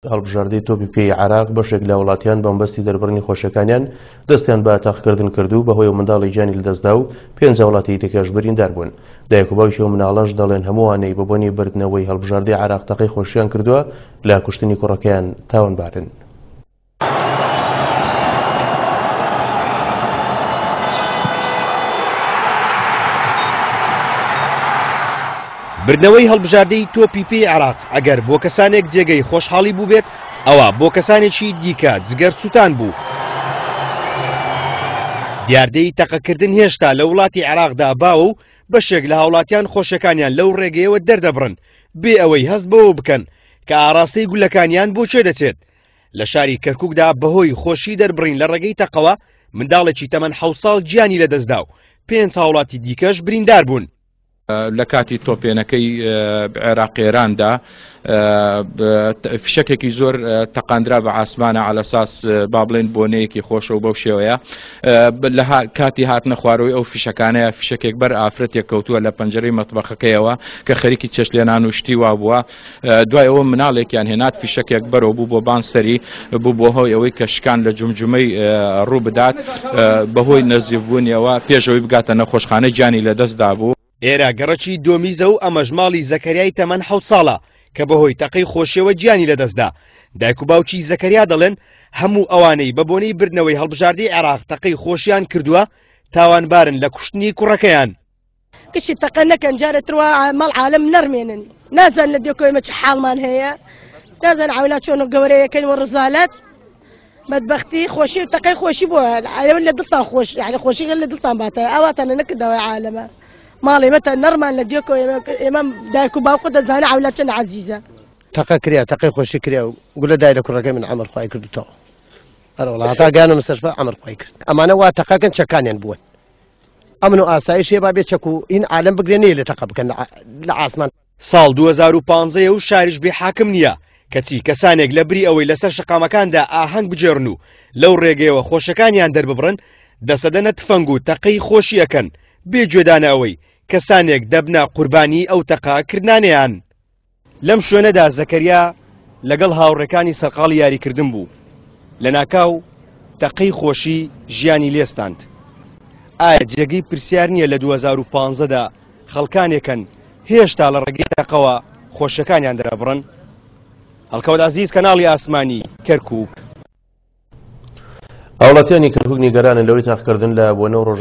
هەڵبژاردەی تۆپی پێی عێراق بەشێک لە وڵاتیان بە مەبەستی دەربڕینی خۆشیەکانیان دەستیان بە تەقەکردن کرد و بەهۆی منداڵی گیانی لەدەستدا و پێنج هاوڵاتی دیکەش بریندار بوون. دایک و باوکی ئەو مناڵەش دەڵێن هەمووانەی بە بۆنی بردنەوەی هەڵبژاردەی عێراق تەقەی خۆشیان کردووە لە کوشتنی کوڕەکەیان تاوانبارن. بردنەوەی هەڵبژاردەی تۆپی پێی عێراق ئەگەر بۆ کەسانێک جێگەی خۆشحاڵی بووبێت ئەوا بۆ کەسانێکی دیکە جگەر سووتان بوو. دیاردەی تەقەکردن هێشتا لە وڵاتی عێراقدا باوە و بەشێک لە هاوڵاتیان خۆشەکانیان لەو ڕێگەیەوە دەردەبڕن بێ ئەوەی هەست بەوە بکەن کە ئاراستەی گولەکانیان بۆ کوێ دەچێت. لە شاری کەرکووکدا بەهۆی خۆشی دەربڕین لە ڕێگەی تەقەوە منداڵێکی تەمەن حەوت ساڵ گیانی لەدەستدا و پێنج هاوڵاتی دیکەش بریندار بوون. لە کاتی تۆپێنەکەی عێراق ئێراندا فشەکێکی زۆر تەقاندرا بە ئاسمانە عەلەساس با بڵێن بۆنەیەکی خۆشە و بەو شێوەیە لە کاتی هاتنە خوارەوەی ئەو فشەکانەیە فشەکێک بەر ئافرەتێک کەوتووە لە پەنجەرەی مەتبەخەکەیەوە کە خەریکی چێشتلێنان و شتی وا بووە دوای ئەوە مناڵێکیان هێنات فیشەکێک بەرەوە بوو بۆ بان سەری بوو بۆ هۆی ئەوەی کە شکان لە جومجومەی ڕوو بدات بەهۆی نەزیفبوونیەوە پێشەوەی بگاتە نەخۆشخانە گیانی لەدەست دابوو. ئێرە گەڕەکی دۆمیزە و ئەمەش ماڵی زەکەریای تەمەن حەوت ساڵە کە بەهۆی تەقەی خۆشیەوە گیانی لەدەستدا. دایک و باوکی زەکەریا دەڵێن هەموو ئەوانەی بە بۆنەی بردنەوەی هەڵبژاردەی عێراق تەقەی خۆشیان کردووە تاوانبارن لە کوشتنی کوڕەکەیان. کشی تەقە نەکەن جارێ تروا ماڵ عالم نەرمێنن نازان لە دێکۆ ئێمە چ حاڵمان هەیە نازان عولا چۆن و گەورەیەکەین و ڕزالەت بەدبەختی خۆشی و تەقەی خۆشی بۆ ئەوە لە دڵتان خۆش یعنی خۆشی لە دڵتان باتە ئاواتان نەکردەوە عالەمە ماڵی مەتە نەرمان لە دێکۆ ئێمە دایک و باوکە دەزانە عولا چەند عەزیزە تەقە کریا تەقەی خۆشی کریا و گولە دای لە کوڕەکەی من عەمر خوای کردوتەوە ئەرەوەڵا هەتا گەیانە مستەشفا عەمر خوای کرد ئەمانە وا تەقەکەن چەکانیان بوون ئەمن و ئاسایش هەیە با بێ چەک و هین عالەم بگرێ نەیە لێ تەقە بکەن لە ئاسمان. ساڵ 2015 و شاریش بێ حاکم نییە، کەچی کەسانێک لە بری ئەوەی لەسەر شەقامەکاندا ئاهەنگ بگێڕن و لەو ڕێگەیەوە خۆشەکانیان دەرببڕن، دەسەدەنە تفەنگ و تەقەی خۆشی ئەکەن، بێ گوێدانە ئەوەی کەسانێک دەبنە قوربانیی ئەو تەقە کردنانەیان. لەم شوێنەدا زەکەریا لەگەڵ هاوڕێکانی سەرقاڵی یاریکردن بوو، لەناکاو تەقەی خۆشی ژیانی لێستاند. ئایا جێگەی پرسیار نییە لە 2015 دا خەڵکانێکن هێشتا لە ڕێگەی تەقەوە خۆشیەکانیان دەرەبڕن؟ هەڵکەوت عەزیز، کەناڵی ئاسمانی، کەرکوک. هاوڵاتیانی کەرکوک نیگەرانن لەوەی تاقکردن لە بۆنە و ڕۆژە.